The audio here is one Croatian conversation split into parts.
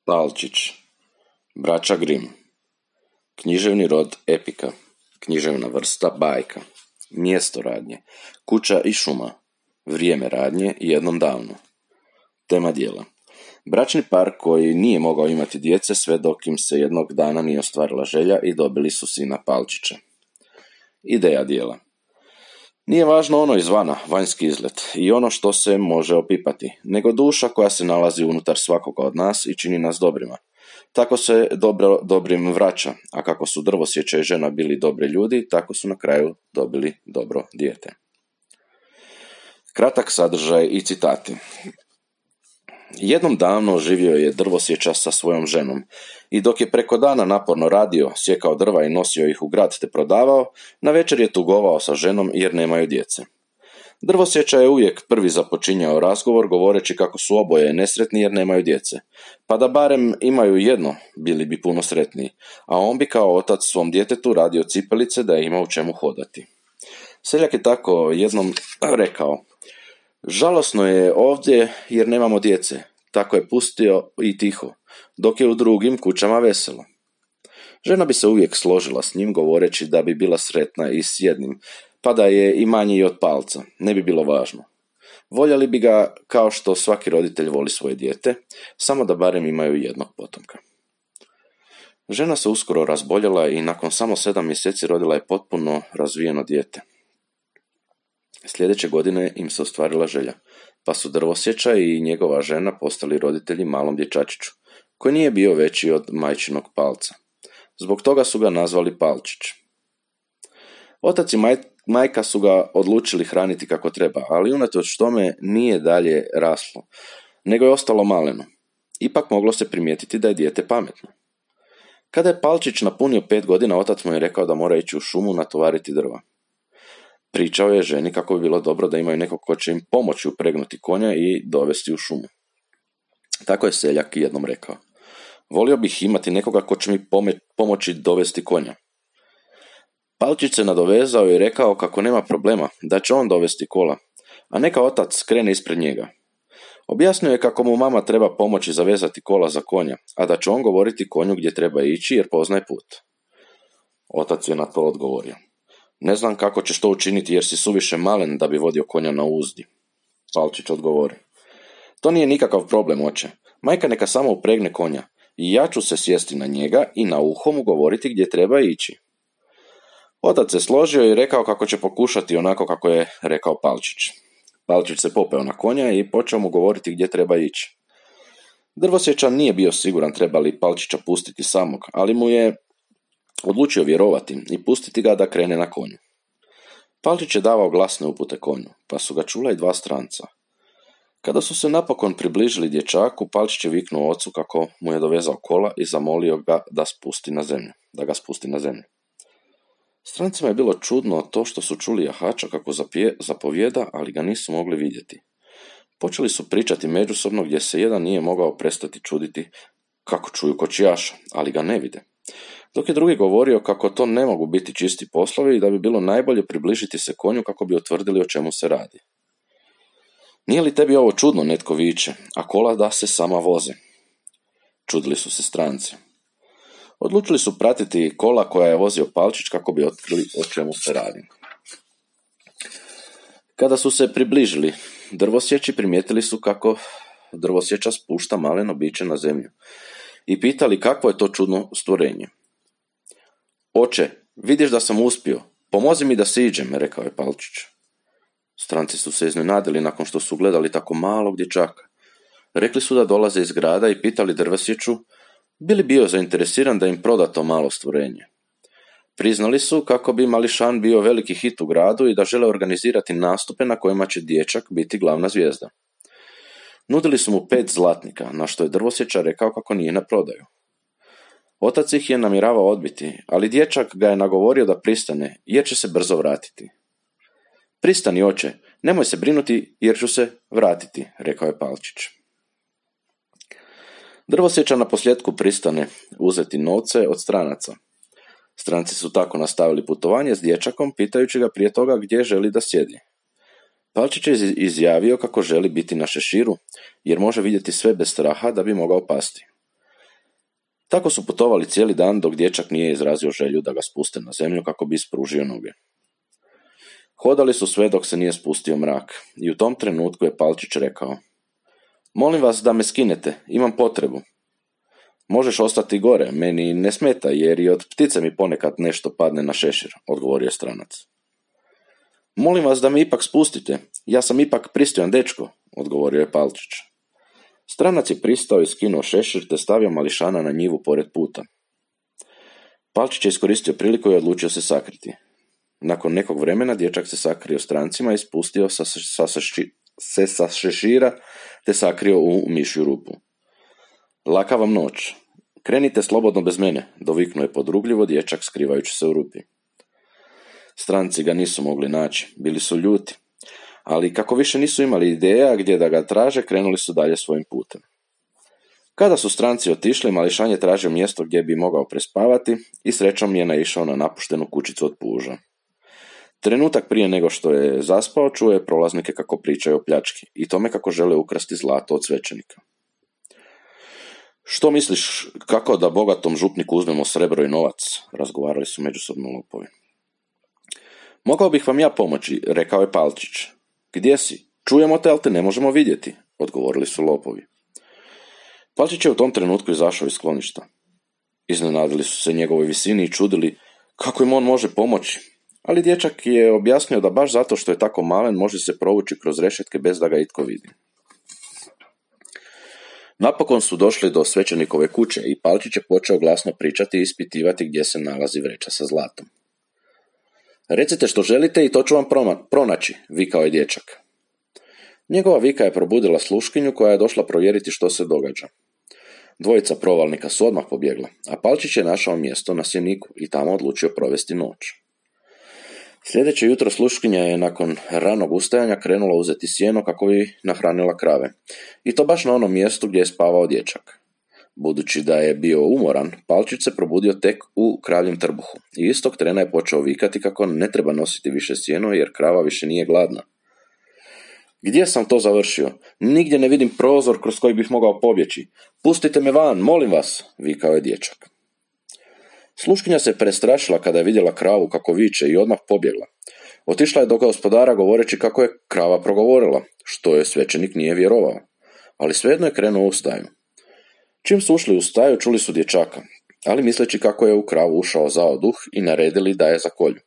Palčić, braća Grimm, književni rod epika, književna vrsta bajka, mjesto radnje, kuća i šuma, vrijeme radnje i jednom davno. Tema djela. Bračni par koji nije mogao imati djece sve dok im se jednog dana nije ostvarila želja i dobili su sina Palčića. Ideja djela. Nije važno ono izvana, vanjski izgled i ono što se može opipati, nego duša koja se nalazi unutar svakoga od nas i čini nas dobrima. Tako se dobrim vraća, a kako su drvosjeća i žena bili dobri ljudi, tako su na kraju dobili dobro dijete. Kratak sadržaj i citati. Jednom davno živio je drvosječa sa svojom ženom i dok je preko dana naporno radio, sjekao drva i nosio ih u grad te prodavao, navečer je tugovao sa ženom jer nemaju djece. Drvosječa je uvijek prvi započinjao razgovor govoreći kako su oboje nesretni jer nemaju djece. Pa da barem imaju jedno, bili bi puno sretniji, a on bi kao otac svom djetetu radio cipelice da je ima u čemu hodati. Seljak je tako jednom rekao: žalosno je ovdje jer nemamo djece, tako je pustio i tiho, dok je u drugim kućama veselo. Žena bi se uvijek složila s njim govoreći da bi bila sretna i s jednim, pa da je i manji i od palca, ne bi bilo važno. Voljeli bi ga kao što svaki roditelj voli svoje dijete, samo da barem imaju jednog potomka. Žena se uskoro razboljela i nakon samo 7 mjeseci rodila je potpuno razvijeno dijete. Sljedeće godine im se ostvarila želja, pa su drvosječa i njegova žena postali roditelji malom dječačiću, koji nije bio veći od majčinog palca. Zbog toga su ga nazvali Palčić. Otac i majka su ga odlučili hraniti kako treba, ali unatoč tome nije dalje raslo, nego je ostalo maleno. Ipak moglo se primijetiti da je dijete pametno. Kada je Palčić napunio 5 godina, otac mu je rekao da mora ići u šumu natovariti drva. Pričao je ženi kako bi bilo dobro da imaju nekog ko će im pomoći upregnuti konja i dovesti u šumu. Tako je seljak jednom rekao: volio bih imati nekoga ko će mi pomoći dovesti konja. Palčić se nadovezao i rekao kako nema problema, da će on dovesti kola, a neka otac krene ispred njega. Objasnio je kako mu mama treba pomoći zavezati kola za konja, a da će on govoriti konju gdje treba ići jer poznaje put. Otac je na to odgovorio: ne znam kako ćeš to učiniti jer si suviše malen da bi vodio konja na uzdi. Palčić odgovori: to nije nikakav problem, oče. Majka neka samo upregne konja i ja ću se sjesti na njega i na uho mu govoriti gdje treba ići. Otac se složio i rekao kako će pokušati onako kako je rekao Palčić. Palčić se popeo na konja i počeo mu govoriti gdje treba ići. Drvosječan nije bio siguran treba li Palčića pustiti samog, ali mu je odlučio vjerovati i pustiti ga da krene na konju. Palčić je davao glasne upute konju, pa su ga čula i 2 stranca. Kada su se napokon približili dječaku, Palčić je viknuo ocu kako mu je dovezao kola i zamolio ga da ga spusti na zemlju. Strancima je bilo čudno to što su čuli jahača kako zapovijeda, ali ga nisu mogli vidjeti. Počeli su pričati međusobno gdje se jedan nije mogao prestati čuditi kako čuju kočijaša, ali ga ne vide. Dok je drugi govorio kako to ne mogu biti čisti poslovi i da bi bilo najbolje približiti se konju kako bi utvrdili o čemu se radi. Nije li tebi ovo čudno, netko viče, a kola da se sama voze? Čudili su se stranci. Odlučili su pratiti kola koja je vozio Palčić kako bi otkrili o čemu se radi. Kada su se približili drvosječi, primijetili su kako drvosječa spušta maleno biće na zemlju i pitali kakvo je to čudno stvorenje. Oče, vidiš da sam uspio, pomozi mi da siđem, rekao je Palčić. Stranci su se iznenadili nakon što su gledali tako malog dječaka. Rekli su da dolaze iz grada i pitali drvosječu bi li bio zainteresiran da im proda to malo stvorenje. Priznali su kako bi mališan bio veliki hit u gradu i da žele organizirati nastupe na kojima će dječak biti glavna zvijezda. Nudili su mu 5 zlatnika, na što je drvosječa rekao kako nije na prodaju. Otac ih je namjeravao odbiti, ali dječak ga je nagovorio da pristane, jer će se brzo vratiti. Pristani, oče, nemoj se brinuti jer ću se vratiti, rekao je Palčić. Drvosječa na posljedku pristane uzeti novce od stranaca. Stranci su tako nastavili putovanje s dječakom, pitajući ga prije toga gdje želi da sjedi. Palčić je izjavio kako želi biti na šeširu, jer može vidjeti sve bez straha da bi mogao pasti. Tako su putovali cijeli dan dok dječak nije izrazio želju da ga spuste na zemlju kako bi ispružio noge. Hodali su sve dok se nije spustio mrak i u tom trenutku je Palčić rekao: Molim vas da me skinete, imam potrebu. Možeš ostati gore, meni ne smeta jer i od ptice mi ponekad nešto padne na šešir, odgovorio stranac. Molim vas da me ipak spustite, ja sam ipak pristojan dečko, odgovorio je Palčić. Stranac je pristao i skinuo šešir te stavio mališana na njivu pored puta. Palčić je iskoristio priliku i odlučio se sakriti. Nakon nekog vremena dječak se sakrio strancima i spustio se sa šešira te sakrio u mišju rupu. Laka vam noć. Krenite slobodno bez mene, doviknuo je podrugljivo dječak skrivajući se u rupi. Stranci ga nisu mogli naći, bili su ljuti, ali kako više nisu imali ideja gdje da ga traže, krenuli su dalje svojim putem. Kada su stranci otišli, mališan je tražio mjesto gdje bi mogao prespavati i srećom je naišao na napuštenu kućicu od puža. Trenutak prije nego što je zaspao, čuo je prolaznike kako pričaju o pljački i tome kako žele ukrasti zlato od svećenika. Što misliš, kako da bogatom župniku uzmemo srebro i novac? Razgovarali su međusobno lopovi. Mogao bih vam ja pomoći, rekao je Palčić. Gdje si? Čujemo te, ali te ne možemo vidjeti, odgovorili su lopovi. Palčić je u tom trenutku izašao iz skloništa. Iznenadili su se njegovoj visini i čudili kako im on može pomoći, ali dječak je objasnio da baš zato što je tako malen može se provući kroz rešetke bez da ga itko vidi. Napokon su došli do svećenikove kuće i Palčić je počeo glasno pričati i ispitivati gdje se nalazi vreća sa zlatom. Recite što želite i to ću vam pronaći, vikao je dječak. Njegova vika je probudila sluškinju koja je došla provjeriti što se događa. Dvojica provalnika su odmah pobjegla, a Palčić je našao mjesto na sjeniku i tamo odlučio provesti noć. Sljedeće jutro sluškinja je nakon ranog ustajanja krenula uzeti sjeno kako bi nahranila krave. I to baš na onom mjestu gdje je spavao dječak. Budući da je bio umoran, Palčić se probudio tek u kravljem trbuhu i istog trena je počeo vikati kako ne treba nositi više sjeno jer krava više nije gladna. Gdje sam to završio? Nigdje ne vidim prozor kroz koji bih mogao pobjeći. Pustite me van, molim vas, vikao je dječak. Sluškinja se prestrašila kada je vidjela kravu kako viče i odmah pobjegla. Otišla je do gospodara govoreći kako je krava progovorila, što je svećenik nije vjerovao, ali svejedno je krenuo u staju. Čim su ušli u staju, čuli su dječaka, ali misleći kako je u kravu ušao zao duh i naredili da je zakolju.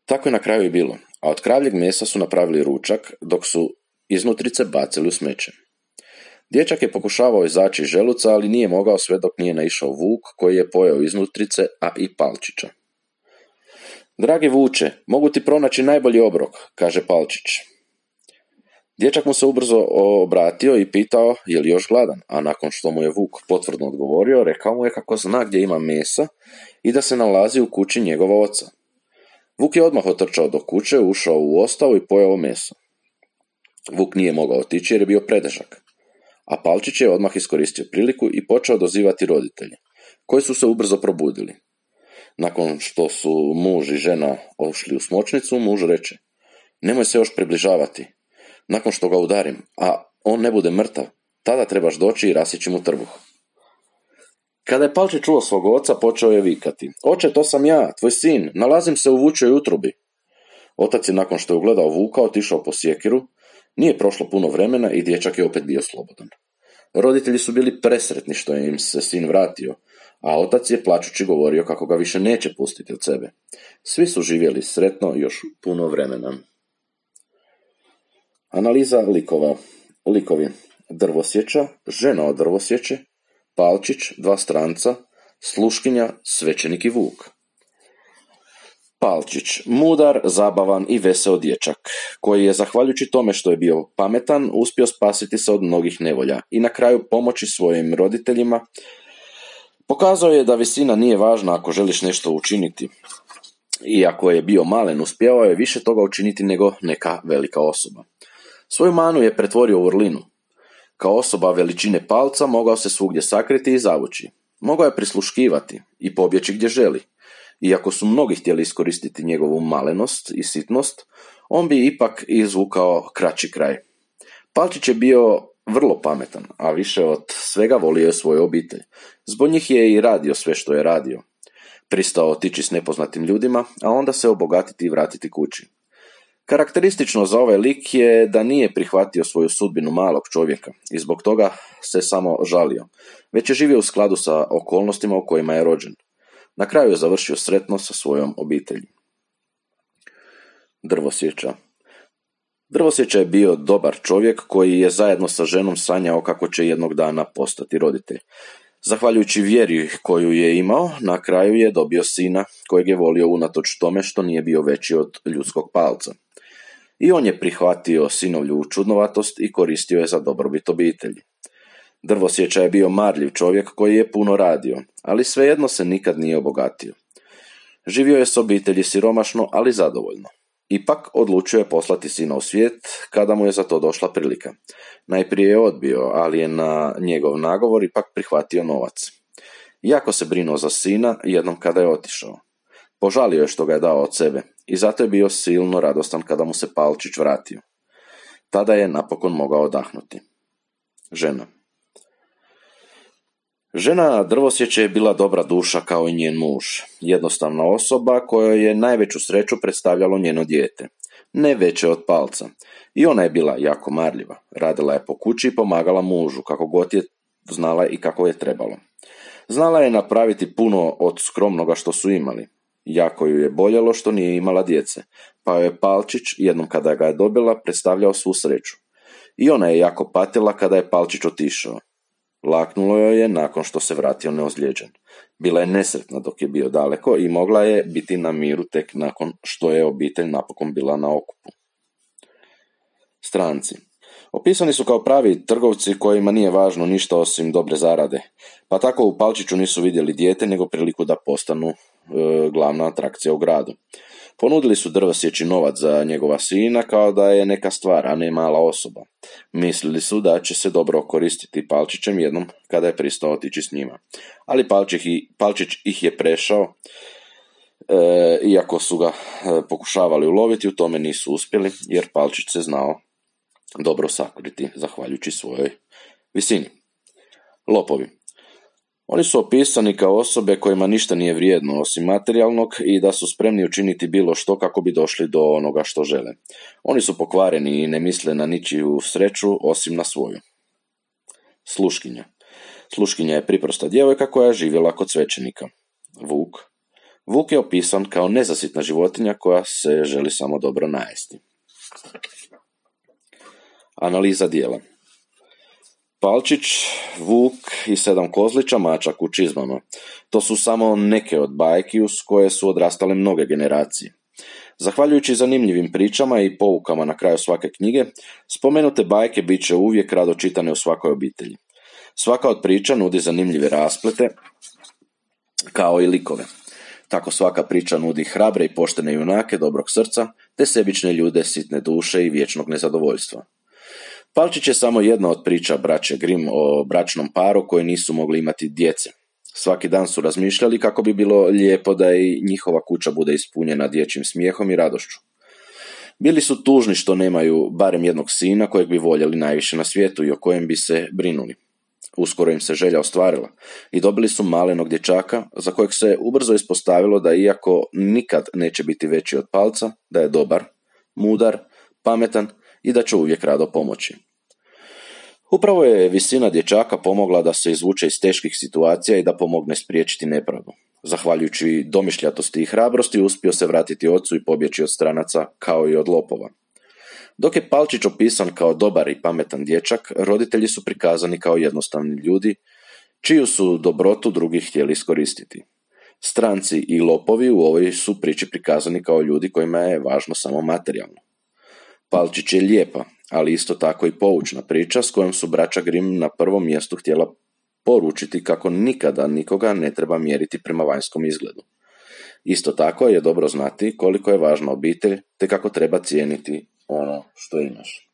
Tako je na kraju i bilo, a od kravljeg mesa su napravili ručak, dok su iznutrice bacili u smeće. Dječak je pokušavao izaći iz želuca, ali nije mogao sve dok nije naišao vuk koji je pojeo iznutrice, a i Palčića. Dragi vuče, mogu ti pronaći najbolji obrok, kaže Palčić. Dječak mu se ubrzo obratio i pitao je li još gladan, a nakon što mu je vuk potvrdno odgovorio, rekao mu je kako zna gdje ima mesa i da se nalazi u kući njegova oca. Vuk je odmah otrčao do kuće, ušao u ostavu i pojeo meso. Vuk nije mogao otići jer je bio pretežak, a Palčić je odmah iskoristio priliku i počeo dozivati roditelje, koji su se ubrzo probudili. Nakon što su muž i žena ošli u smočnicu, muž reče: nemoj se još približavati. Nakon što ga udarim, a on ne bude mrtav, tada trebaš doći i rasjeći mu trbuh. Kada je Palčić čuo svog oca, počeo je vikati: oče, to sam ja, tvoj sin, nalazim se u vučjoj utrobi. Otac je nakon što je ugledao vuka otišao po sjekiru, nije prošlo puno vremena i dječak je opet bio slobodan. Roditelji su bili presretni što je im se sin vratio, a otac je plačući govorio kako ga više neće pustiti od sebe. Svi su živjeli sretno još puno vremena. Analiza likova. Likovi: drvosječa, žena od drvosječe, Palčić, dva stranca, sluškinja, svećenik i vuk. Palčić, mudar, zabavan i veseo dječak, koji je, zahvaljujući tome što je bio pametan, uspio spasiti se od mnogih nevolja i na kraju pomoći svojim roditeljima. Pokazao je da visina nije važna ako želiš nešto učiniti. Iako je bio malen, uspjevao je više toga učiniti nego neka velika osoba. Svoju manu je pretvorio u vrlinu. Kao osoba veličine palca mogao se svugdje sakriti i zavući. Mogao je prisluškivati i pobjeći gdje želi. Iako su mnogi htjeli iskoristiti njegovu malenost i sitnost, on bi ipak izvukao kraći kraj. Palčić je bio vrlo pametan, a više od svega volio je svoju obitelj. Zbog njih je i radio sve što je radio. Pristao otići s nepoznatim ljudima, a onda se obogatiti i vratiti kući. Karakteristično za ovaj lik je da nije prihvatio svoju sudbinu malog čovjeka i zbog toga se samo žalio, već je živio u skladu sa okolnostima u kojima je rođen. Na kraju je završio sretno sa svojom obitelji. Drvosječa. Drvosječa je bio dobar čovjek koji je zajedno sa ženom sanjao kako će jednog dana postati roditelj. Zahvaljujući vjeri koju je imao, na kraju je dobio sina kojeg je volio unatoč tome što nije bio veći od ljudskog palca. I on je prihvatio sinovlju čudnovatost i koristio je za dobrobit obitelji. Drvosječa je bio marljiv čovjek koji je puno radio, ali svejedno se nikad nije obogatio. Živio je s obitelji siromašno, ali zadovoljno. Ipak odlučio je poslati sina u svijet kada mu je za to došla prilika. Najprije je odbio, ali je na njegov nagovor ipak prihvatio novac. Jako se brinuo za sina jednom kada je otišao. Požalio je što ga je dao od sebe i zato je bio silno radostan kada mu se Palčić vratio. Tada je napokon mogao odahnuti. Žena. Žena Drvosječe je bila dobra duša kao i njen muž, jednostavna osoba kojoj je najveću sreću predstavljalo njeno dijete, ne veće od palca. I ona je bila jako marljiva, radila je po kući i pomagala mužu kako god je znala i kako je trebalo. Znala je napraviti puno od skromnoga što su imali. Jako ju je boljelo što nije imala djece, pa joj je Palčić, jednom kada ga je dobila, predstavljao svu sreću. I ona je jako patila kada je Palčić otišao. Laknulo joj je nakon što se vratio neozlijeđen. Bila je nesretna dok je bio daleko i mogla je biti na miru tek nakon što je obitelj napokon bila na okupu. Stranci. Opisani su kao pravi trgovci kojima nije važno ništa osim dobre zarade, pa tako u Palčiću nisu vidjeli dijete nego priliku da postanu glavna atrakcija u gradu. Ponudili su Drvosječi novac za njegova sina kao da je neka stvar, a ne mala osoba. Mislili su da će se dobro koristiti Palčićem jednom kada je pristao otići s njima. Ali Palčić ih je prešao, iako su ga pokušavali uloviti, u tome nisu uspjeli, jer Palčić se znao dobro sakriti, zahvaljujući svojoj visini. Lopovi. Oni su opisani kao osobe kojima ništa nije vrijedno osim materijalnog i da su spremni učiniti bilo što kako bi došli do onoga što žele. Oni su pokvareni i ne misle na ničiju sreću osim na svoju. Sluškinja. Sluškinja je priprosta djevojka koja je živjela kod svećenika. Vuk. Vuk je opisan kao nezasitna životinja koja se želi samo dobro najesti. Analiza dijela. Palčić, Vuk i 7 kozlića mačak u čizmama. To su samo neke od bajki uz koje su odrastale mnoge generacije. Zahvaljujući zanimljivim pričama i poukama na kraju svake knjige, spomenute bajke bit će uvijek rado čitane u svakoj obitelji. Svaka od priča nudi zanimljive rasplete, kao i likove. Tako svaka priča nudi hrabre i poštene junake dobrog srca, te sebične ljude sitne duše i vječnog nezadovoljstva. Palčić je samo jedna od priča braće Grimm o bračnom paru koji nisu mogli imati djece. Svaki dan su razmišljali kako bi bilo lijepo da i njihova kuća bude ispunjena dječjim smijehom i radošću. Bili su tužni što nemaju barem jednog sina kojeg bi voljeli najviše na svijetu i o kojem bi se brinuli. Uskoro im se želja ostvarila i dobili su malenog dječaka za kojeg se ubrzo ispostavilo da iako nikad neće biti veći od palca, da je dobar, mudar, pametan i da će uvijek rado pomoći. Upravo je visina dječaka pomogla da se izvuče iz teških situacija i da pomogne spriječiti nepravdu. Zahvaljujući domišljatosti i hrabrosti uspio se vratiti ocu i pobjeći od stranaca kao i od lopova. Dok je Palčić opisan kao dobar i pametan dječak, roditelji su prikazani kao jednostavni ljudi, čiju su dobrotu drugi htjeli iskoristiti. Stranci i lopovi u ovoj su priči prikazani kao ljudi kojima je važno samo materijalno. Palčić je lijepa, ali isto tako i poučna priča s kojom su braća Grimm na prvom mjestu htjela poručiti kako nikada nikoga ne treba mjeriti prema vanjskom izgledu. Isto tako je dobro znati koliko je važna obitelj te kako treba cijeniti ono što imaš.